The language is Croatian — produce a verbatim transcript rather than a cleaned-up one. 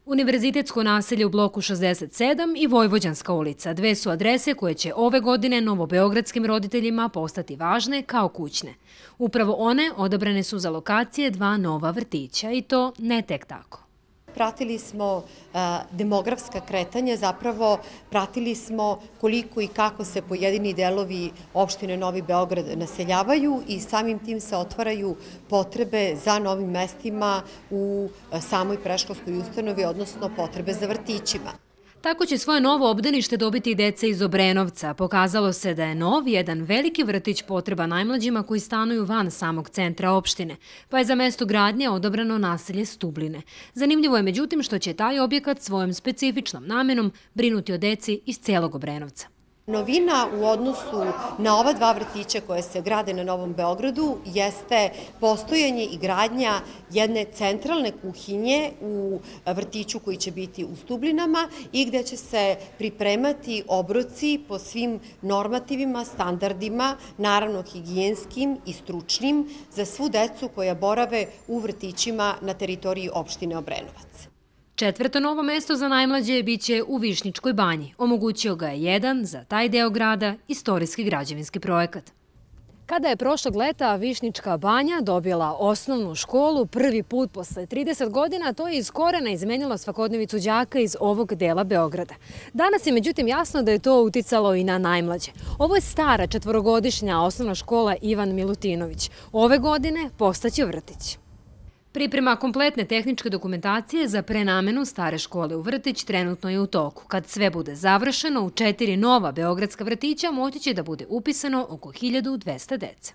Univerzitetsko naselje u bloku šezdeset sedam i Vojvođanska ulica. Dve su adrese koje će ove godine novobeogradskim roditeljima postati važne kao kućne. Upravo one odabrane su za lokacije dva nova vrtića i to ne tek tako. Pratili smo demografska kretanja, zapravo pratili smo koliko i kako se pojedini delovi opštine Novi Beograd naseljavaju i samim tim se otvaraju potrebe za novim mestima u samoj predškolskoj ustanovi, odnosno potrebe za vrtićima. Tako će svoje novo obdanište dobiti i deca iz Obrenovca. Pokazalo se da je nov jedan veliki vrtić potreba najmlađima koji stanuju van samog centra opštine, pa je za mesto gradnje odabrano naselje Stubline. Zanimljivo je međutim što će taj objekat svojom specifičnom namenom brinuti o deci iz celog Obrenovca. Novina u odnosu na ova dva vrtića koje se grade na Novom Beogradu jeste postojanje i gradnja jedne centralne kuhinje u vrtiću koji će biti u Stublinama i gde će se pripremati obroci po svim normativima, standardima, naravno higijenskim i stručnim, za svu decu koja borave u vrtićima na teritoriji opštine Obrenovac. Četvrto novo mesto za najmlađe biće u Višnjičkoj banji. Omogućio ga je jedan, za taj deo grada, istorijski građevinski projekat. Kada je prošlog leta Višnjička banja dobila osnovnu školu prvi put posle trideset godina, to je iz korena izmenilo svakodnevicu đaka iz ovog dela Beograda. Danas je međutim jasno da je to uticalo i na najmlađe. Ovo je stara četvorogodišnja osnovna škola Ivan Milutinović. Ove godine postaće vrtić. Priprema kompletne tehničke dokumentacije za prenamenu stare škole u vrtić trenutno je u toku. Kad sve bude završeno, u četiri nova beogradska vrtića moći će da bude upisano oko hiljadu dvesta dece.